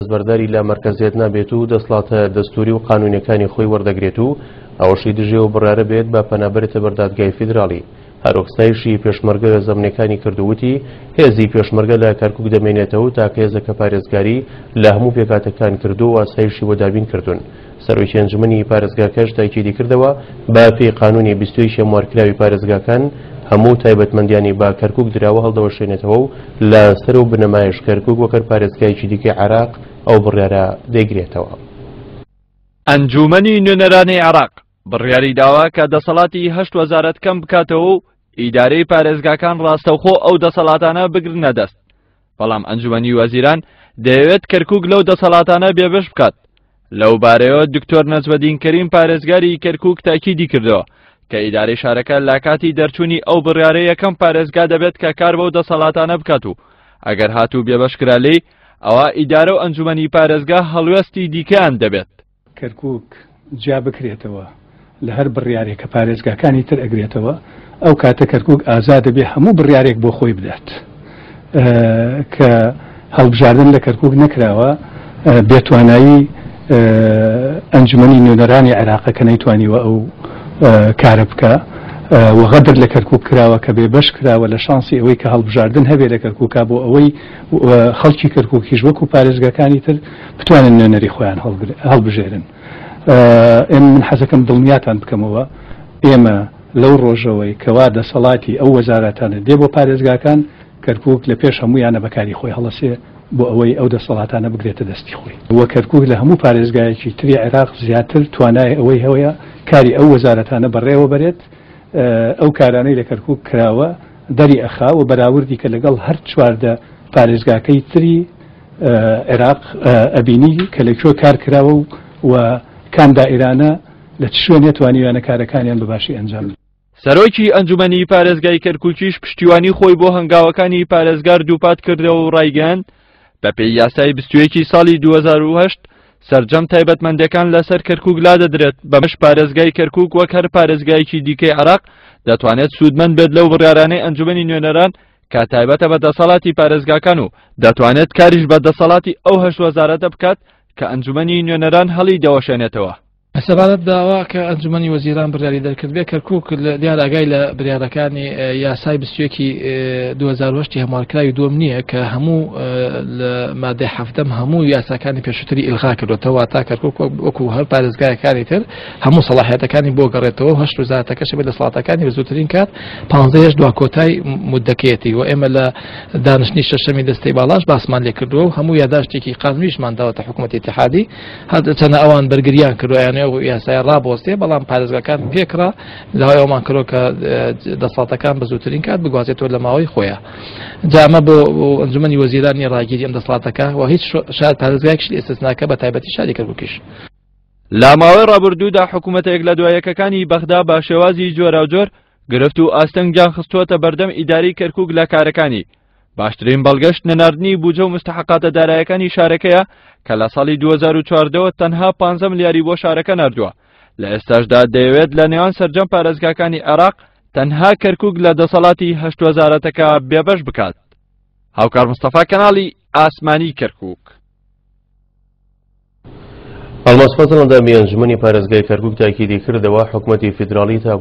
دەستبەرداری لە مەرکەزیەت نابێت و دەسڵاتە دەستوری و قانونیەکانی خۆی وەردەگرێت و ئەوەشی دژی ئەو بڕیارە بێت بە پەنابەرێتە بەر دادگای فیدراڵی. هەروەک ستایشی پێشمەرگە زەمنیەکانی کرد و وتی، هێزی پێشمەرگە لە کەرکوک دەمێنێتەوە و تاکە هێزە کە پارێزگاری لە هەموو پێکهاتەکان کردووە و ئاسایشی بۆ دابین کردوون. سەرۆکی ئەنجومەنی پارێزگاکەش تاکیدی کردەوە، بە پێی قانونی 21 هەموارکراوی پارێزگاکان هەموو تایبەتمەندیانی بە کەرکوک دراوە هەڵدەوەشێنێتەوە و لە سەر و بنەمایش کەرکوک وەک هەر پارێزگایەکی دیکەی عێراق ئەو بڕیارە دەیگرێتەوە. ئەنجوومەنی نوێنەرانی عێراق بڕیاری داوە کە دەسەڵاتی هەشت وەزارەت کەم بکاتەوە و ئیدارەی پارێزگاکان ڕاستەوخۆ ئەو دەسەڵاتانە بگرنە دەست، بەڵام ئەنجومەنی وەزیران دەیەوێت کەرکوک لەو دەسەڵاتانە بێبەش بکات. لەو بارەیەوە دکتۆر نەجمەدین کەریم پارێزگاری کەرکوک تاکیدی کردەوە کە ئیدارەی شارەکە لە کاتی دەرچوونی ئەو بڕیارە یەکەم پارێزگا دەبێت کە کار بەو دەسەڵاتانە بکات و ئەگەر هاتوو بێبەش کرا لێی ئەوا ئیدارە و ئەنجومەنی پارێزگا هەڵوێستی دیکەیان دەبێت. کەرکوک جیا بکرێتەوە لە هەر بڕیارێک کە پارێزگاکانی تر ئەگرێتەوە، ئەو کاتە کەرکوک ئازاد دەبێ هەموو بڕیارێک بۆ خۆی بدات. کە هەڵبژاردن لە کەرکوک نەکراوە، بێتوانایی ئەنجومەنی نوێنەرانی عێراقە کە نەیتوانیوە ئەو کارە بکا و غەدر لە کەرکوک کراوە کە بێبەش کراوە لە شانسی ئەوەی کە هەڵبژاردن هەبێ لە کەرکوکا بۆ ئەوەی خەڵکی کەرکوکیش وەکو پارێزگاکانی تر بتوانن نوێنەری خۆیان هەڵبژێرن. ئێمە من حەزەکەم دڵنیاتان بکەمەوە ئێمە لەو ڕۆژەوەی کەوا دەسەڵاتی ئەو وەزارەتانە دێ بۆ پارێزگاکان، کەرکوک لە پێش هەموویانە بەکاری خۆی هەڵەسێ بۆ ئەوەی ئەو دەسەڵاتانە بگرێتە دەستی خۆی و کەرکوک لە هەموو پارێزگایەکی تری عێراق زیاتر توانای ئەوەی هەیە کاری ئەو وەزارەتانە بەڕێوە بەرێت ئەو کارانەی لە کەرکوک کراوە دەری ئەخا و بەراوردی کە لەگەڵ هەر 14 پارێزگاکەی تری عێراق ئەبینی کە لە کوێ کار کراوە و کام دائیرانە لە چ شوێنێ توانیویانە کارەکانیان بە باشی ئەنجام بدەن. سەرۆکی ئەنجومەنی پارێزگای کەرکوکیش پشتیوانی خۆی بۆ هەنگاوەکانی پارێزگار دووپات کردەوە و ڕایگەیاند، بەپێی یاسای 21 ساڵی 2008 سەرجەم تایبەتمەندەکان لەسەر کەرکوک لادەدرێت، بەمەش پارێزگای کەرکوک وەک هەر پارێزگایەکی دیکەی عێراق دەتوانێت سوودمەند بێت لەو بڕیارانەی ئەنجومەنی نوێنەران کە تایبەتە بە دەسەڵاتی پارێزگاکان و دەتوانێت کاریش بە دەسەڵاتی ئەو هەشت وەزارەتە بکات کە ئەنجومەنی نوێنەران هەڵی دەوەشێنێتەوە. سەبارەت بە ئەوە کە ئەنجومەنی وەزیران بڕیاری دەرکردبێ، کەرکوک دیار ئاگای لە بریارەکانی یاسای 21 2008 هەموارکراوی دووەم نییە کە هەموو لە مادەی حەفتەم هەموو یاساکانی پێشووتری ئیلغا کردوێتەوە، واتا کەرکوک وەکو هەر پارێزگایەکانی تر هەموو سەڵاحیەتەکانی بۆ گەڕێتەوە و هەشت وەزارەتەکەشی بە دەسەڵاتەکانی بە زووترین کات پانزەیەش دوا کۆتای مدەکەیەتی و ئێمە لە دانیشتنی شەشەمی دەستەی باڵاش باسمان لێ کردووە و هەموو یاداشتێکی قانونیشمان داوەتە حکوومەتی ئیتحادی هەرچەندە ئەوان بەرگریان کردووە یانێ و یاسای ڕابۆستێ بەڵام پارێزگاکان پێکرا داوای ئەومان کردووە کە دەسەڵاتەکان بە زووترین کات بگوازێتەوە لە ماوەی خۆیان جا ئەمە بۆ ئەنجومەنی وەزیرانی ڕاگیری ئەم دەسەڵاتەکە و هیچ شار پارێزگایەکیش ئێستاکە بە تایبەتی شاری کەرکووکیش. لە ماوەی ڕابردوودا حکوومەتە یەک لە دوایەکەکانی بەغدا بە شێوازی جۆراوجۆر گرفت و ئاستەنگیان خستووەتە بەردەم ئیداری کەرکووک لە کارەکانی باشترین بەڵگەش نەناردنی بودجە و مستحقاتە دارایەکانی شارەکەیە کە لە ساڵی 2014ەوە تەنها 15 ملیاری بۆ شارەکە ناردووە لە ئێستاشدا دەیەوێت لە نێوان سەرجەم پارێزگاکانی عێراق تەنها کەرکووک لە دەسەڵاتی هەشت وەزارەتەکە بێبەش بکات. هاوکار مستەفا کەناڵی ئاسمانی کەرکووک. ئەڵماس فەزڵ ئەندامی ئەنجومەنی پارێزگای کەرکوک تاکیدی کردەوە، حکومەتی فیدراڵی تا.